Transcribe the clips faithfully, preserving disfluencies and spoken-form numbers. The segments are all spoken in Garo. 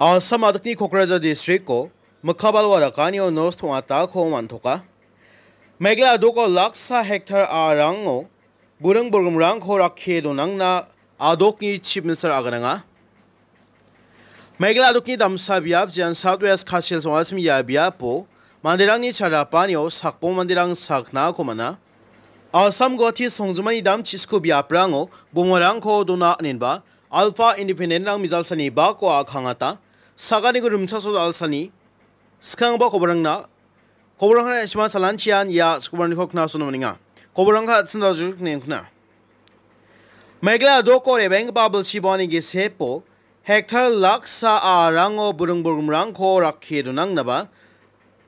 Assam adikni Kokrajhar districto mikka balwa rakanio nos tong·atako man·toka. Meghalaya adoko laksa hektar a·rango buring bolgrimrangko rakkie donangna adokni chief minister agananga. Meghalaya adokni damsa biap jean South West Khasi Hills ong·achim ia biapo manderangni charapanio sakbong manderang saknako man·a. Assam Guwahati songjinmani dam chisku biaprango bomarangko dona inenba Alpha Independent-rang mijalsani bako a·kangata. Saganiko rimchasol alsani skangba koborangna koborangna isma salanchian ia skoborangko knasono maninga. Koborangka atsinda juk nengkna. Meghalaya adoko rebenggipa bilsi bongani gisepo hektar laksa a·rango buring bolgrimrangko rakkie donangnaba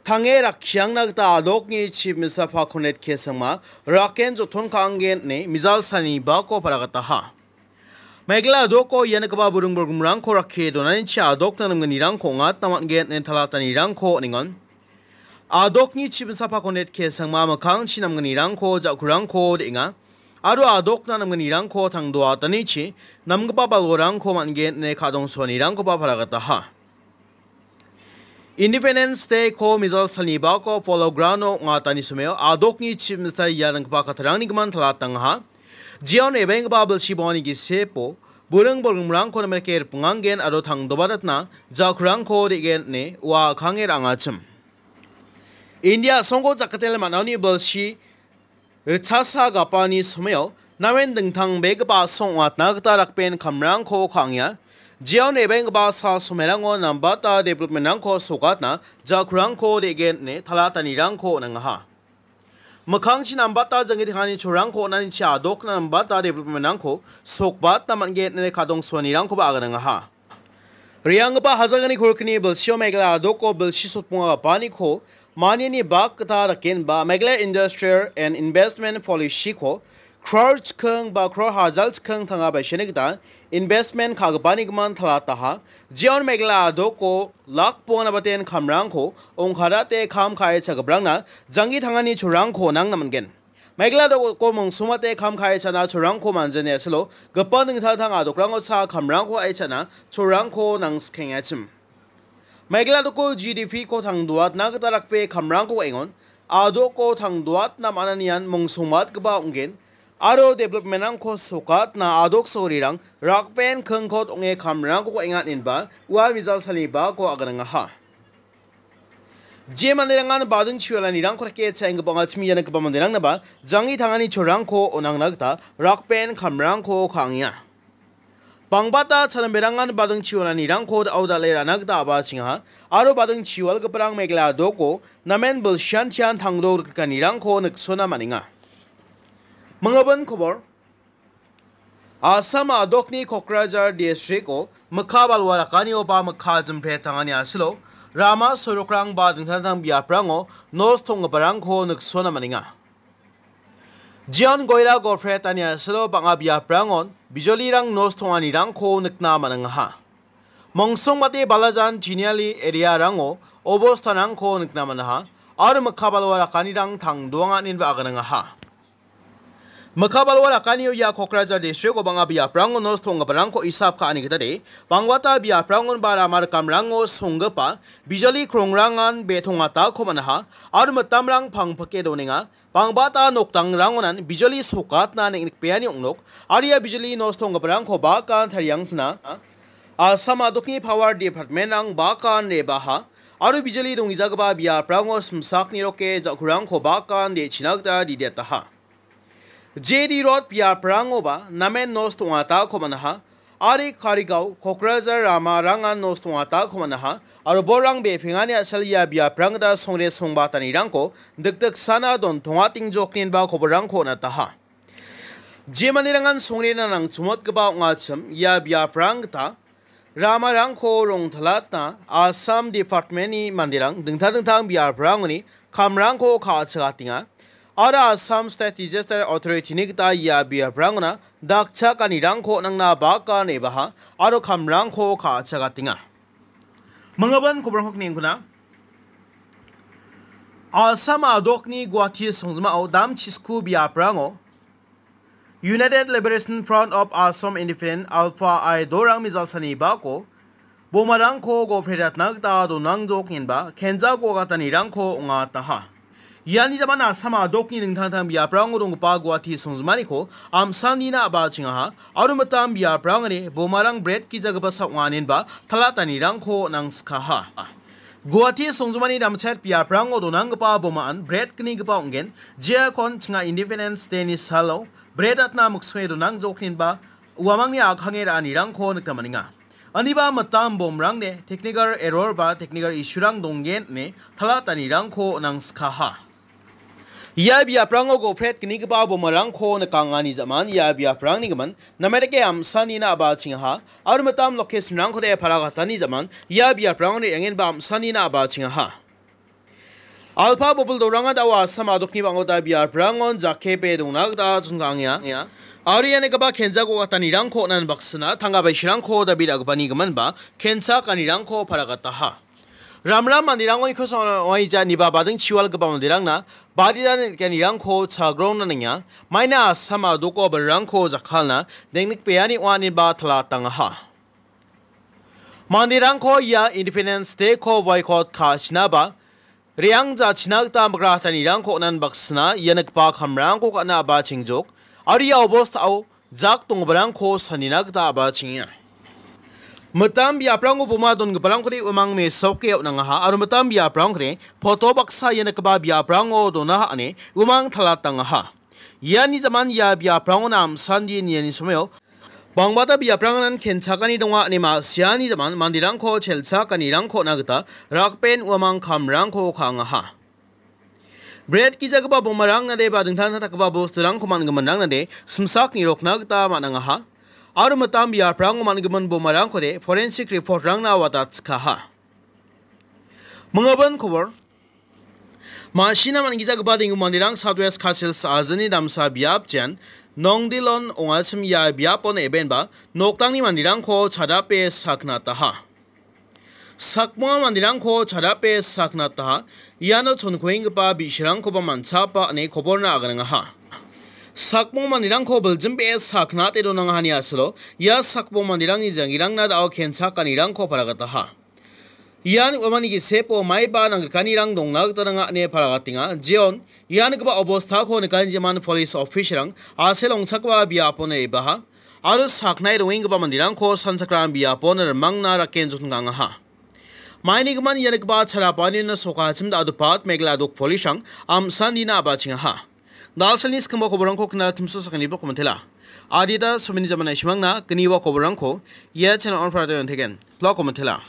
tange rakkiangna gita adokni chief minister Pakondet Kesangma raken joton ka·angen ine mijalsani bako paragataha. Meghalaya adoko ianikoba buring bolgrimrangko rakkie donanichi adokna namgnirangko ong·atna man·gen ine talatanirangko on·engan. Adokni chief minister Pakondet Kesangma mikkangchi namgnirangko ja·kurangko de·enga. Aro adokna namgnirangko tangdoatanichi namgipa balwarangko man·gen ine kadongsoanirangkoba paragataha. Independence Day-ko mijalsani bako Polo Ground-o ong·atani someo adokni chief minister ia nanggipa kattarangni gimin talatangaha. Jeon rebenggipa bilsi bongani gisepo buring bolgrimrangko namen rike ripingangen aro tangdobatatna ja·kurangko de·gen ine ua a·kange ra·angachim. India a·songko jakatele man·aoni bilsi ritchasa gapani someo namen dingtangbegipa a·song ong·atna gita rakben kamrangko ka·angenga. Jeon rebenggipa sal somerango nambata development-rangko sokatna ja·kurangko de·gen ine talatanirangko on·angaha. Mikkangchi nambata janggi tengani cholrangko on·anichi adokna nambata development-rangko sokbatna man·gen ine kadongsoanirangkoba aganangaha. Re·anggipa hajalgni kolgni bilsio Meghalaya adoko bilsi sotbonga gapaniko maniani bak gita dakenba Meghalaya Industrial and Investment Policy-ko crore chiking ba crore hajal chiking tanga baiseni gita investment ka·gipani gimin talataha. Jeon Meghalaya adoko lak bonga nabaten kamrangko ong·karate kam ka·echagiparangna janggi tangani cholrangko on·angna man·gen. Meghalaya adoko mongsongmate kam ka·echana cholrangko manjani asilo gipin dingtang dingtang adokrango cha kamrangko ka·echana cholrangko nangskengachim. Meghalaya adoko G D P-ko tangdoatna gita rakbe kamrangko ka·engon, adoko tangdoatna man·anian mongsongmatgipa ong·gen, aro development-rangko sokatna adok sorirang rakben kingkot ong·e kamrangko ka·enga inenba ua mijalsani bako aganangaha. Je manderangan bading chiwalanirangko rike cha·enggipa ong·achim ia nikgipa manderangnaba janggi tangani cholrangko on·angna gita rakben kamrangko ka·angenga. Bangbata chanamberangan bading chiwalanirangko da·o dal·e ra·na gita a·bachengaha aro bading chiwalgiparang Meghalaya adoko namen bilsian tian tangdo rikrikanirangko niksona man·enga. Mingabin kobor. Assam adokni Kokrajhar districto mikka balwa rakanioba mikka jimpre tangani asilo rama sorokrang ba dingtang dingtang biaprango nos tonggiparangko niksona man·enga. Jeon Goira Gofret ani asilo bang·a biaprangon bijolirang nos tonganirangko nikna man·angaha. Mongsongmate Balajan Tiniali area-rango obostanrangko nikna man·aha aro mikka balwa rakanirang tangdoanga inenba aganangaha. Mikka balwa rakanio ia Kokrajhar districto bang·a biaprango nos tonggiparangko isap ka·ani gitade, bangbata biaprangon ba rama rikamrango songgipa bijoli krongrangan be·tongatako man·aha aro mitamrang pangpike donenga. Bangbata nokdangrangonan bijoli sokatna neng·nikbeani ong·nok, aro ia bijoli nos tonggiparangko bakan tariangpina Assam adokni Power Department-rang bakan rebaha aro bijoli donggijagipa biaprango simsakni roke ja·kurangko bakan de·china gita didetaha. J D Road biaprangoba namen nos tongatakoba naha, Ari Karigao, Kokrajhar ramarangan nos tongatakoba naha, aro borang bepengani a·sel ia biaprangda songre songbatanirangko dikdiksana dontongatengjokninba koborangko on·ataha. Jemanirangan songrena nangchongmotgipa ong·achim ia biaprang gita ramarangko rongtalatna Assam Department-ni manderang dingtang dingtang biaprangoni kamrangko ka·achakatenga. Aro Assam State Disaster Authority-ni gita ia biaprangona dakchakanirangko nangna baka nebaha aro kamrangko ka·achakatenga. Mangaban kobrangkok nengkuna. Assam adokni Guwahati songjinmao dam chisku biaprango United Liberation Front of Assam Independent Alpha I dorang mijalsani bako bomarangko gopretna gita donangjok inba kenja go·gatanirangko ong·ataha. Iani jaman Assam a·dokni dingtang dingtang biaprango donggipa Guwahati songjimaniko amsanina a·bachengaha aro mitam biaprangni bomarang bret gijagipa sa ong·a inba talatanirangko nangskaha. Guwahati songjumani damchet biaprango donanggipa bomaan bret gnigipa ong·gen, jeakon chinga Independence Day-ni salo bret atna miksonge donangjok inba uamangni a·kange ra·anirangko nikna man·enga. Aniba mitam bomrangde technical error ba technical issue-rang donggen ine talatanirangko nangskaha. Ia biaprango gopret gnigipa bomarangko nikangani jaman ia biaprangni gimin namerike amsanina a·bachengaha aro mitam location-rangkode paragatani jaman ia biaprango re·angenba amsanina a·bachengaha. Alpa bobil doranga da·o Assam a·dokni bang·ota biaprangon jakepe dongna gita chongangenga. Aro ia nikgipa kenja go·gatanirangko on·ani baksana tangka baisirangko dabi ra·gipani giminba kencha kanirangko paragataha. Ramram manderangoni kosonga ong·aija iniba bading chiwalgipa manderangna badita nikanirangko chagrongna ninga. Maina Assam a·doko bilrangko jakkalna dengnikbeani ong·a inba talatangaha. Manderangko ia Independence Day-ko boycott ka·achinaba re·ang jachina gita migratanirangko on·ani baksana ia nikgipa kamrangko ka·na a·bachengjok aro ia obostao jak donggiparangko sanina gita a·bachengenga. Mitam biaprango boma dongiparangkode umang mesoke on·angaha aro mitam biaprangkode poto baksa ia nikgipa biaprango donaha ine umang talatangaha. Iani jaman ia biaprango namsandi niani somao bangbata biaprangan kenchakani donga ine ma·siani jaman manderangko chelchakanirangko on·a gita rakben uamang kamrangko ka·angaha. Bret gijagipa bomarang nade ba dingtang dingtang dakgipa bosturangko man·giminrang nade simsak nirokna gita man·angaha. Aro mitam biaprango man·gimin bomarangkode forensic report-rangna watatskaha. Mingabin kobor. Ma·sina man·gijagipa dinggipa manderang South West Khasi Hills ajini damsa biap jean Nongdilon ong·achim ia biapon ebenba noktangni manderangko chadape saknataha. Sakmonga manderangko chadape saknataha. Iano chonkuenggipa bi·sarangkoba man·chapa ine koborna aganangaha. Sakmong manderangko biljimbe saknate donangahani asilo ia sakmong manderangni jangirangna da·o kenchakanirangko paragataha. Ian uamangni gisepo maiba nangrikanirang dongna gita nanga ine paragatenga. Jeon ia nikgipa obostako nikani jeman polis officer-rang a·sel ong·chakgipa biapon re·baha aro saknae dongenggipa manderangko sanchakram biapon rimangna raken jotngangaha. Maini gimin ia nikgipa charapanina sokachim da·odepat Meghalaya a·dok polis-rang amsanina a·bachengaha. Dalsalni skangba koborangko kna timso sakanibo komentela. Adita someni jamana isimangna gniwa koborangko ia channel on prado yonthegen. Pla komentela.